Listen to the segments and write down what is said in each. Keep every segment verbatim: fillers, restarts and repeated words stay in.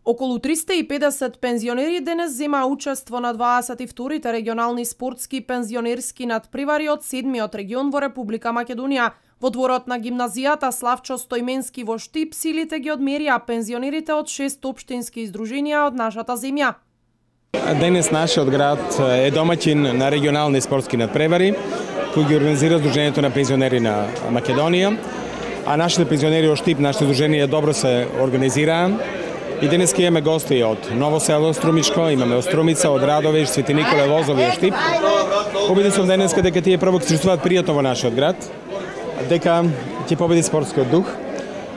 Околу триста и педесет пензионери денес зема учество на дваесет и вторите регионални спортски пензионерски надпревари од седмиот регион во Република Македонија. Во дворот на гимназијата Славчо Стојменски во Штип силите ги одмерија пензионерите од шест општински издруженија од нашата земја. Денес нашиот град е домаќин на регионални спортски надпревари кои ги организира Сдруженијето на пензионери на Македонија, а нашите пензионери од Штип, нашите издруженија добро се организираа. И денес имаме гости од Ново село Струмичко, имаме од Струмица, од Радовиш, Свети Николе, Лозови, од Штип. Победен сум денеска дека тие прво ќе чувствуваат пријатно во нашиот град, дека ќе победи спортскиот дух.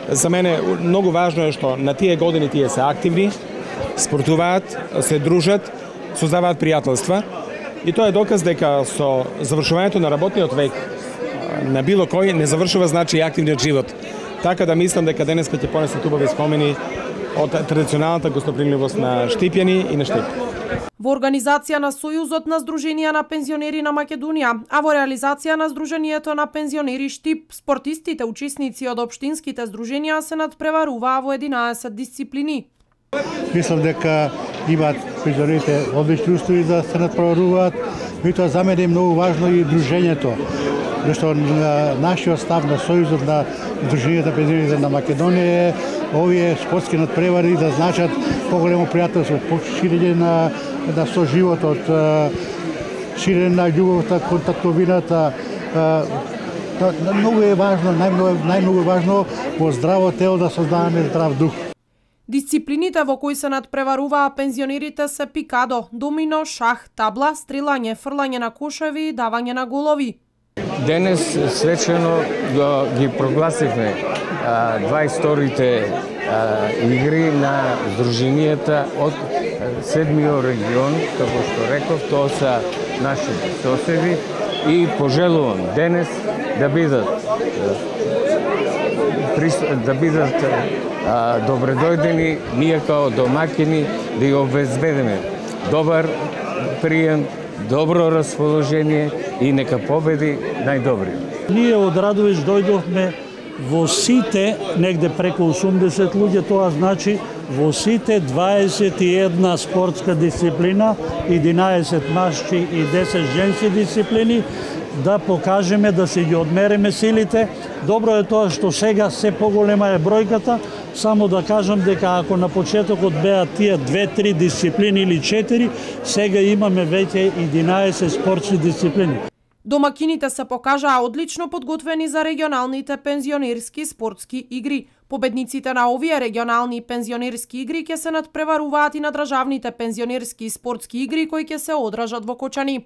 За мене многу важно е што на тие години тие се активни, спортуваат, се дружат, создаваат пријателства. И тоа е доказ дека со завршувањето на работниот век на било кој не завршува значи и активниот живот. Така да мислам дека денеска ќе понесат убави спомени од традиционалната гостопримливост на штипјани и на Штип. Во организација на Сојузот на Сдруженија на пензионери на Македонија, а во реализација на Сдруженијето на пензионери Штип, спортистите учесници од општинските здруженија се надпреваруваа во единаесет дисциплини. Мислам дека имаат пензионерите одлични услови да се надпреваруваат, меѓутоа за мене е многу важно и дружењето. Зашто нашиот став на Сојузот на Сдруженијата на пензионерите на Македонија е овие спортски надпревари да значат поголемо пријателство, ширење на, на соживотот, ширење на љубовта, контактовината. Многу е важно, најмногу, најмногу е важно во здраво тело да создаваме здрав дух. Дисциплините во кои се надпреваруваа пензионерите се пикадо, домино, шах, табла, стрелање, фрлање на кошеви и давање на голови. Денес свечено ги прогласивме дваесет и вторите игри на Сдруженијата од седмиот регион, како што реков, тоа се нашите соседи и пожелувам денес да бидат да бидат добредојдени, ние као домакини да ја обезбедиме добар прием, добро расположение и нека победи најдобриот. Ние од Радовиш дојдовме во сите, негде преку осумдесет луѓе, тоа значи во сите дваесет и една спортска дисциплина, единаесет машки и десет женски дисциплини, да покажеме, да се ги одмериме силите. Добро е тоа што сега се поголема е бројката, само да кажам дека ако на почетокот беа тие две-три дисциплини или четири, сега имаме веќе единаесет спортски дисциплини. Домакините се покажаа одлично подготвени за регионалните пензионерски спортски игри. Победниците на овие регионални пензионерски игри ќе се надпреваруваат и на државните пензионерски спортски игри кои ќе се одржат во Кочани.